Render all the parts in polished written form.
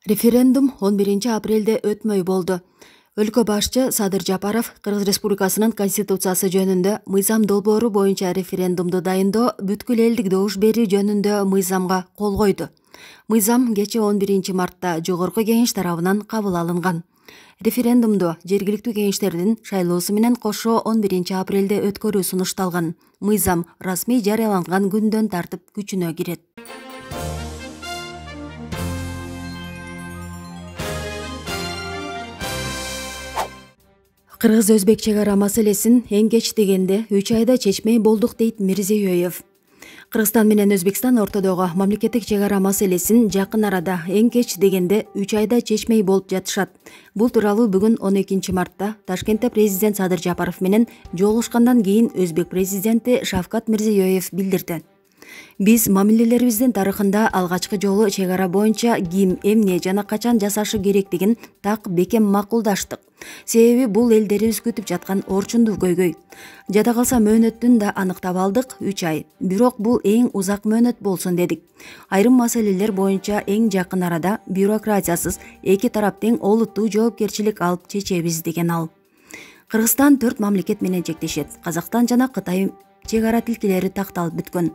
Референдум 11 апрелде өтмөй болду. Өлкө башчы Садыр Жапаров Кыргыз Республикасынын Конституциясы жөнүндө мыйзам долбоору боюнча референдумду дайындоо, бүткүл элдик добуш берүү жөнүндө мыйзамга кол койду. Мыйзам кечээ 11 мартта Жогорку Кеңеш тарабынан кабыл алынган. Референдумду жергиликтүү кеңештердин шайлоосу менен кошо 11 апрелде өткөрүү сунушталган. Мыйзам расмий жарыяланган күндөн тартып күчүнө кирет. Кыргыз-өзбек чек ара маселесин эң кеч дегенде 3 айда чечмей болдук дейт Мирзиёев. Кыргызстан менен Өзбекстан ортодогу мамлекеттик чек ара маселесин жакын арада эң кеч дегенде 3 айда чечмей болуп жатышат. Бул тууралуу бүгүн 12 мартта Ташкентте президент Садыр Жапаров менен жолугушкандан кийин Өзбек президенти Шавкат Мирзиёев билдирди. Биз мамилелерибиздин тарыхында алгачкы жолу чек ара боюнча ким, эмне жана качан жасашы керектигин так бекем макулдаштык. Себеби бул элдерибиз күтүп жаткан орчундуу көйгөй. Жада калса мөөнөтүн да аныктап алдык 3 ай. Бирок бул эң узак мөөнөт болсун дедик. Айрым маселелер боюнча эң жакын арада бюрократиясыз эки тарап тең олуттуу жоопкерчилик алып чечебиз деген ал. Кыргызстан 4 мамлекет менен чектешет. Казакстан жана Кытай чек ара тилкелери такталып бүткөн.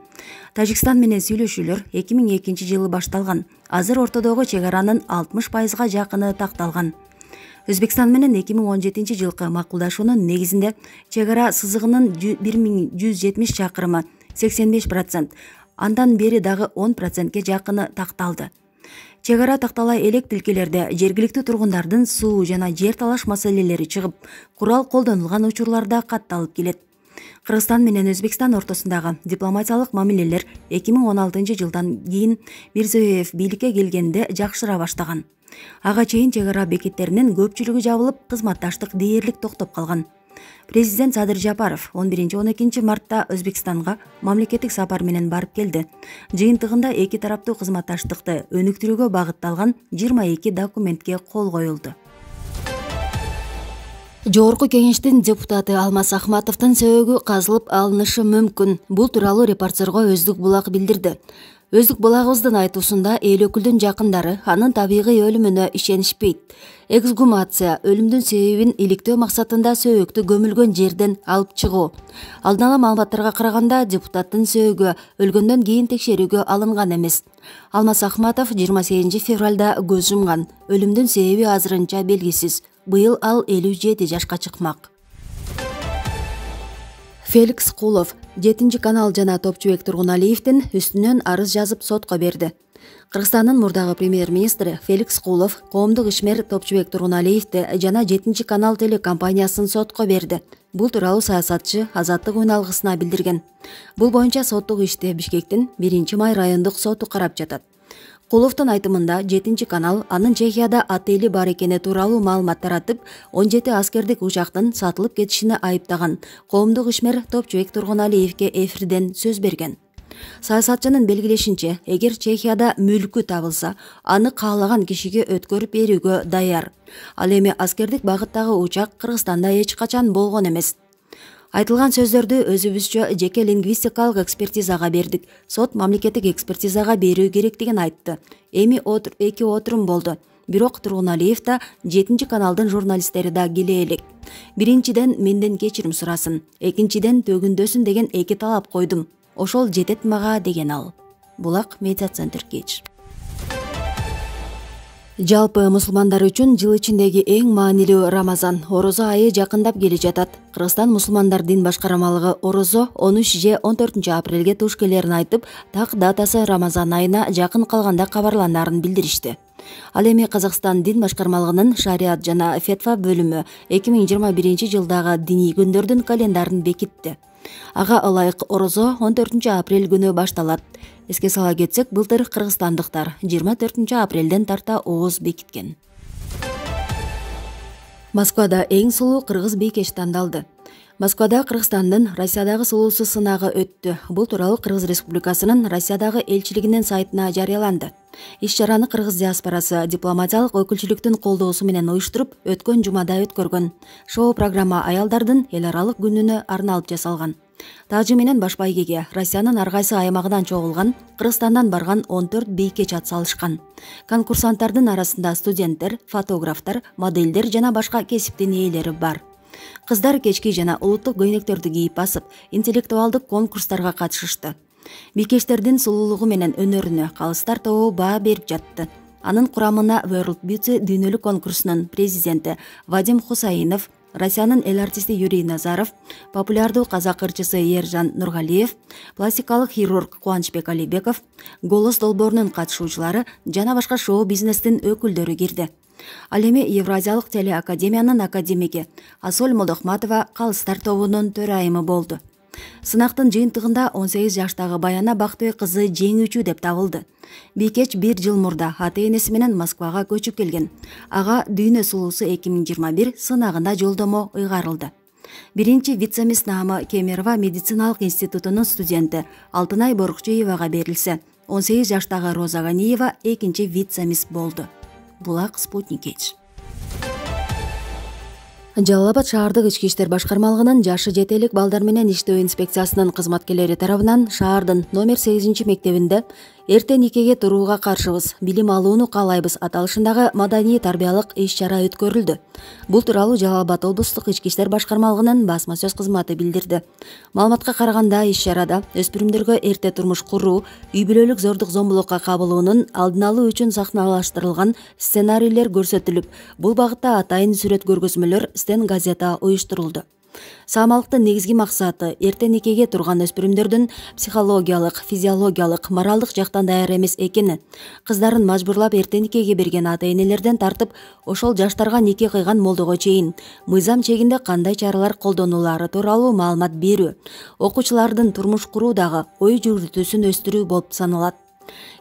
Тажикстан менен сүйлөшүүлөр 2002 жылы башталган. Азыр ортодогу чек аранын 60%га жакыны такталган. Өзбекстан менен 2017 жылкы макулдашуунун негизинде чек ара сызыгынын 1170 чакырымы 85%, андан бери дагы 10%ге жакыны такталды. Чек ара тактала элек тилкелерде жергиликтүү тургундардын суу жана жер талаш маселелери чыгып, курал колдонулган учурларда катталып келет. Кыргызстан менен Өзбекстан ортосундагы дипломатиялык мамилелер 2016 жылдан кийин Мирзиёев бийликке келгенде жакшыра баштаган. Ага чейин чек ара бекеттеринин көпчүлүгү жабылып, кызматташтык дээрлик токтоп калган. Президент Садыр Жапаров 11-12 мартта Өзбекстанга мамлекеттик сапар менен барып келди. Жыйынтыгында эки тараптуу кызматташтыкты өнүктүрүүгө багытталган 22 документке кол коюлду. Жогорку Кеңештин депутаты Алмаз Ахматовдун сөөгү казылып алынышы мүмкүн. Бул тууралуу репортерго Өздүк булак билдирди. Өздүк булагыбыздын айтуусунда эл өкүлдүн жакындары анын табигый өлүмүнө ишенишпейт. Эксгумация өлүмдүн себебин иликтөө максатында сөөгүктү көмүлгөн жерден алып чыгуу. Алдын ала маалыматтарга караганда депутаттын сөөгү өлгөндөн кийин текшерүүгө алынган эмес. Алмаз Ахматов 28 февралда көз жумган. Өлүмдүн себеби азырынча белгисиз. Быйыл ал 57 жашка чыкмак. Феликс Кулов 7-канал жана Топчубек Тургуналиевдин үстүнөн арыз жазып сотко берди. Кыргызстандын мурдагы премьер-министри Феликс Кулов коомдук ишмер Топчубек Тургуналиевди жана 7-канал телекомпаниясын сотко берди. Бул тууралуу саясатчы Азаттык үн алгысына билдирген. Бул боюнча соттук ишти Бишкектин 1-май райондук соту карап жатат. Куловдун айтымында 7-канал анын Чехияда отели бар экени тууралуу маалымат таратып, 17 аскердик учактын сатылып кетишине айыптаган. Коомдук ишмер Топчубек Тургуналиевге эфирден сөз берген. Саясатчынын белгилешинче, эгер Чехияда мүлкү табылса, аны каалаган кишиге өткөрүп берүүгө даяр. Ал эми аскердик багыттагы учак Кыргызстанда эч качан болгон эмес. Айтылган сөздөрдү өзүбүзчө жеке лингвистикалык экспертизага бердик. Сот мамлекеттик экспертизага берүү керектигин айтты. Эми эки отурум болду. Бирок Тургуналиев да 7-каналдын журналисттери да келе элек. Биринчиден менден кечирим сурасын, экинчиден төгүндөсүн деген эки талап койдум. Ошол жетет мага деген ал. Булак медиа центр кеч. Жалпы мусулмандар үчүн жыл ичиндеги эң маанилүү Рамазан, орозо айы жакындап келе жатат. Кыргызстан мусулмандар дин башкармалыгы орозо 13 же 14 апрелге туш келерин айтып, так датасы Рамазан айына жакын калганда кабарланаарын билдиришти. Ал эми Казакстан дин башкармалыгынын шариат жана фетва бөлүмү 2021 жылдагы диний күндөрдүн календарын бекитти. Ага ылайык орозо 14 апрель күнү башталат. Эске сала кетсек, былтыр кыргызстандыктар 24 апрелден тарта ооз бекиткен. Москвада эң сулуу кыргыз бийкеш тандалды. Москвада Кыргызстандын Россиядагы сулуусу сынагы өттү. Бул тууралуу Кыргыз Республикасынын Россиядагы элчилигинин сайтына жарыяланды. Иш-чараны кыргыз диаспорасы дипломатиялык өкүлчүлүктүн колдоосу менен уюштуруп, өткөн жумада өткөргөн. Шоу программа аялдардын эл аралык күнүнө арналып жасалган. Тажы менен баш байгеге Россиянын ар кайсы аймагынан чогулган, Кыргызстандан барган 14 бийкеч ат салышкан. Конкурсанттардын арасында студенттер, фотографтар, моделдер жана башка кесиптин ээлери бар. Кыздар кечки жана улуттук көйнөктөрдү кийип басып, интеллектуалдык конкурстарга катышышты. Бийкечтердин сулуулугу менен өнөрүнө калыстар тобу баа берип жатты. Анын курамына World Beauty дүйнөлүк конкурсунун президенти Вадим Хусаинов, Россиянын эл артисти Юрий Назаров, популярдуу казак ырчысы Ержан Нургалиев, пластикалык хирург Кубанычбек Алибеков, Голос долбоорунун катышуучулары жана башка шоу-бизнестин өкүлдөрү кирди. Ал эми Евразиялык телеакадемиянын академиги Асоль Молдохматова калыстар тобунун төрайымы болду. Сынактын жыйынтыгында 18 жаштагы Баяна Бактыбек кызы жеңүүчү деп табылды. Бийкеч 1 жыл мурда ата-энеси менен Москвага көчүп келген. Ага дүйнө сулуусу 2021 сынагында жолдомо ыйгарылды. Биринчи вице-мисс наамы Кемерово медициналык институтунун студенти Алтынай Борукчуевага берилсе, 18 жаштагы Роза Ганиева экинчи вице-мисс болду. Булак Спутник Эч. Жалал Абад шаардык ички иштер башкармалыгынын жашы жете элек балдар менен иштөө инспекциясынын кызматкерлери тарабынан шаардын номер 8 мектебинде эрте никеге турууга каршыбыз, билим алууну каалайбыз аталышындагы маданий тарбиялык иш-чара өткөрүлдү. Бул тууралуу Жалал Абад облустук ички иштер башкармалыгынын басма сөз кызматы билдирди. Маалыматка караганда, иш-чарада өспүрүмдөргө эрте турмуш куруу, үй бүлөлүк зордук зомбулукка кабылуунун алдын алуу үчүн сахналаштырылган сценарийлер көрсөтүлүп, бул багытта атайын сүрөт көргөзмөлөр газета уюштурулду. Саамалыктын негизги максаты эрте никеге турган өспүрүмдөрдүн психологиялык, физиологиялык, моралдык жактан даяр эмес экени, кыздарын мажбурлап эрте никеге берген ата-энелерден тартып, ошол жаштарга нике кыйган молдого чейин мыйзам чегинде кандай чаралар колдонулары тууралуу маалымат берүү, окуучулардын турмуш куруудагы ой жүгүртүүсүн өстүрүү болуп саналат.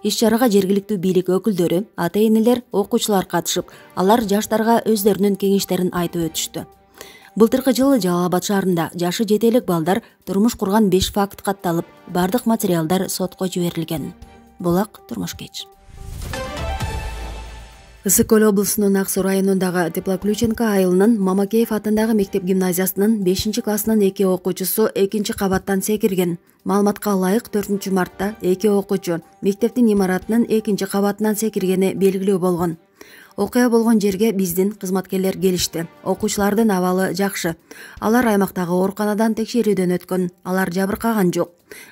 Иш-чарага жергиликтүү бийлик өкүлдөрү, ата-энелер, окуучулар катышып, алар жаштарга өздөрүнүн кеңештерин айтып өтүштү. Былтыркы жылы Жалал Абад шаарында жашы жете элек балдар турмуш курган 5 факт катталып, бардык материалдар сотко жиберилген. Булак Турмуш Кеч. Ысык Көл облусунун Ак Суу районундагы Теплоключенко айылынын Мамакеев атындагы мектеп гимназиясынын 5-классынын 2 окуучусу 2 кабаттан секирген. Маалыматка ылайык 4 мартта 2 окуучу мектептин имаратынын 2 кабатынан секиргени белгилүү болгон. Окуя болгон жерге биздин кызматкерлер келишти. Окуучулардын абалы жакшы. Алар аймактагы ооруканадан текшерүүдөн өткөн. Алар жабыркаган жок.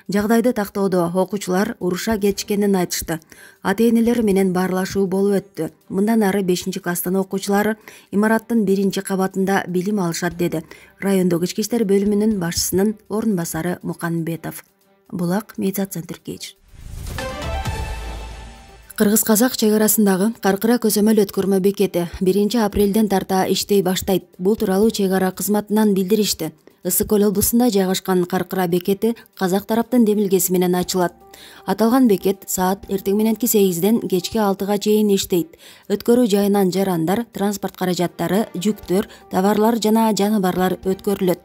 Жагдайды тактоодо окуучулар уруша кетишкенин айтышты. Ата-энелер менен баарлашуу болуп өттү. Мындан ары 5-класстын окуучулары имараттын 1 кабатында билим алышат, деди райондук ички иштер бөлүмүнүн башчысынын орун басары Муканбетов. Булак Медиа Центр Кеч. Кыргыз-казак чек арасындагы Каркыра көзөмөл өткөрмө бекети 1 апрелден тарта иштей баштайт. Бул тууралуу чек ара кызматынан билдиришти. Ысык Көл облусунда жайгашкан Каркыра бекети казак тараптын демилгеси менен ачылат. Аталган бекет саат эртең мененки 8ден кечки 6га чейин иштейт. Өткөрүү жайынан жарандар, транспорт каражаттары, жүктөр, товарлар жана жаныбарлар өткөрүлөт.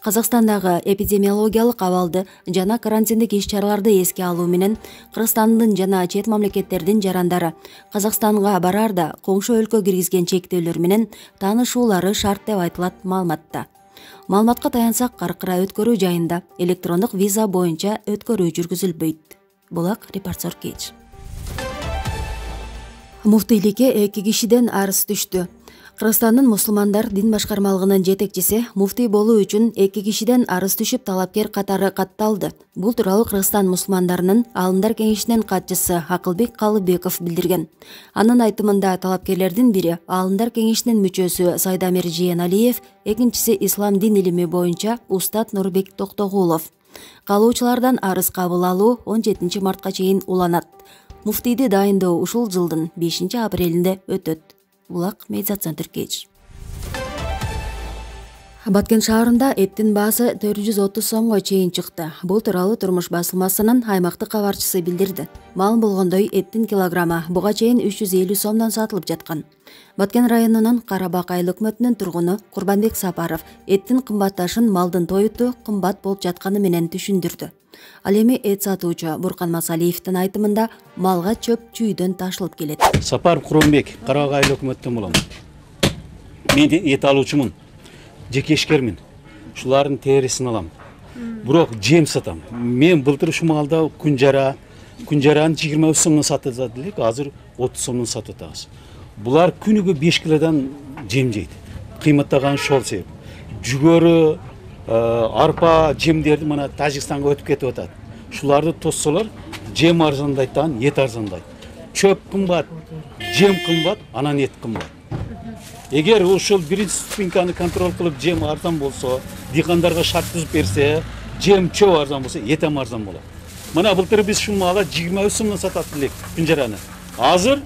Казакстандагы эпидемиологиялык абалды жана карантиндик иш-чараларды эске алуу менен Кыргызстандын жана чет мамлекеттердин жарандары Казакстанга бараарда коңшу өлкө киргизген чектөөлөр менен таанышуулары шарт деп айтылат маалыматта. Маалыматка таянсак, Каркыра өткөрүү жайында электрондук виза боюнча өткөрүү жүргүзүлбөйт. Булак Репортер Кеч. Муфтийликке 2 кишиден арыз түштү. Кыргызстандын мусулмандар дин башкармалыгынын жетекчиси муфтий болуу үчүн 2 кишиден арыз түшүп талапкер катары катталды. Бул тууралуу Кыргызстан мусулмандарынын Аалымдар кеңешинин катчысы Акылбек Калыбеков билдирген. Анын айтымында талапкерлердин бири Аалымдар кеңешинин мүчөсү Сайдамир Жиеналиев, экинчиси ислам дин илими боюнча устат Нурбек Токтогулов. Калуучулардан арыз кабыл алуу 17 мартка чейин уланат. Муфтийди дайындоо ушул жылдын 5 апрелинде өтөт. Булак Медиа Центр Кеч. Баткен шаарында эттин баасы 430 сомго чейин чыкты. Бул тууралуу Турмуш басылмасынын аймактык кабарчысы билдирди. Маалым болгондой, эттин килограммы буга чейин 350 сомдон сатылып жаткан. Баткен районунун Карабак айыл өкмөтүнүн тургуну Курбанбек Сапаров эттин кымбатташын малдын тоюту кымбат болуп жатканы менен түшүндүрдү. Ал эми эт сатуучу Буркан Масалиевдин айтымында малга чөп чүйдөн ташылып келет. Сапаров Курбанбек, Карабак айыл өкмөтүнөн болом. Мен эт алуучумун, жеке ишкермин. Ушулардын терисин алам. Бирок жем сатам. Мен былтыр ушул маалда күнжараны 23 сомдон сатып элек, азыр 30 сомдон сатып атабыз. Булар күнүгө 5 килодан жем жейт. Кыйматтаган ошол себеп. Жүгөрү, арпа жемдерди мына Тажикстанга өтүп кетип атат. Шуларды тоссолор жем арзандайт, эт арзандайт. Чөп кымбат, жем кымбат, анан эт кымбат. Эгер ошол биринчи ступеньканы контроль кылып жем арзан болсо, дыйкандарга шарт түзүп берсе, жем чөп арзан болсо, эт ham арзан болот. Мына былтыр биз ушул маала 23 сомдон сатат элек күнжараны. Азыр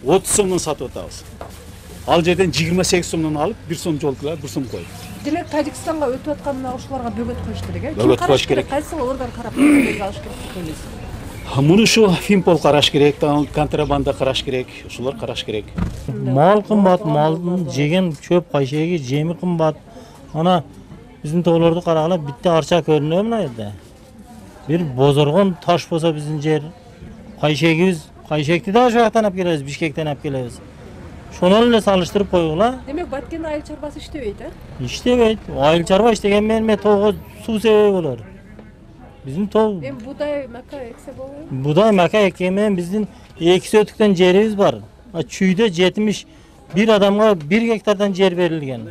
30 сомдон сатып атабыз. Ал жерден 28 сомдон алып, 1 сом жол кылып, 1 сом коюп. Демек Тажикстанга өтүп атканына ошолорго бөгөт коюш керек, э? Бөгөт коюш керек. Кайсы орган карап алыш керек деп ойлойсуз? Муну ушу Финпол караш керек, контрабанда караш керек, ошолор караш керек. Мал кымбат, малдын жеген чөп кайшеги, жеми кымбат. Ана биздин тоолорду карагыла битте арча көрүнөбү мына жерде. Бир бозоргон таш болсо биздин жер, кайшегибиз, кайшекти да ошол жактан алып келебиз, Бишкектен алып келебиз. Шону эле салыштырып койгула. Демек Баткенде айыл чарбасы иштебейт, э? Иштебейт. Айыл чарба иштеген менен тоого суу себеби болор. Биздин тоо. Эми будай, мака эксе болобу? Будай, мака эккен менен биздин 2 сөтүктөн жерибиз бар. Чүйдө 71 адамга 1 гектардан жер берилген.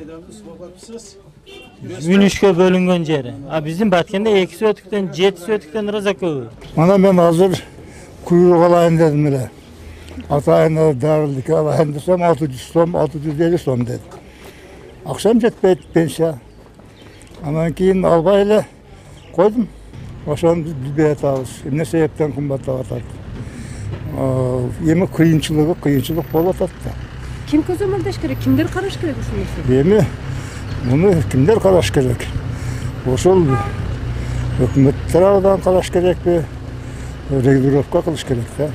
Үнүшкө бөлүнгөн жери. Биздин Баткенде 2 сөтүктөн 7 сөтүктөн ыраза көбү. Мана мен азыр куйрук алайын дедим эле. Атайын дарылыкка алайын десем 600 сом, 650 сом деди. Акчам жетпейт, пенсия. Анан кийин албай эле койдум. Ошону биз билбей атабыз. Эмне себептен кымбаттап атат? Эми кыйынчылык болуп атат да. Ким көзөмөлдөш керек? Кимдер караш керек ушул нерсени? Эми муну кимдер караш керек? Ошол өкмөт тарабынан караш керекпи? Регулировка кылыш керек да.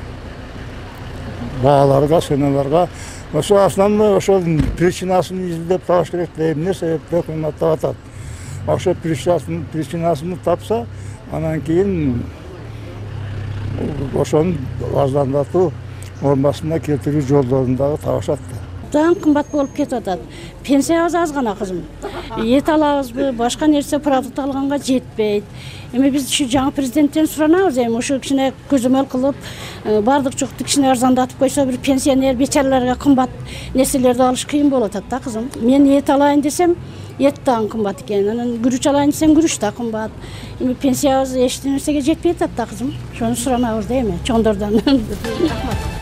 Бааларга, ценаларга. Ошо основной ошол причинасын изилдеп табыш керек да, эмне себептен кымбаттап атат. Ошо причинасын тапса, анан кийин ошону арзандатуу нормасына келтирүү жолдорун дагы табышат да. Абдан кымбат болуп кетип атат. Пенсиябыз аз гана кызым. Эт алабызбы, башка нерсе продукт алганга жетпейт. Эми биз ушу жаңы президенттен суранабыз, эми ушу кичине көзөмөл кылып, бардык жукту кичине арзандатып койсо, бир пенсионер бечараларга кымбат нерселерди алыш кыйын болуп атат да кызым. Мен эт алайын десем, эт дагы кымбат экен. Анан күрүч алайын десем, күрүч да кымбат. Эми пенсиябыз эч нерсеге жетпей атат да кызым. Ошону суранабыз да эми чоңдордон. Рахмат.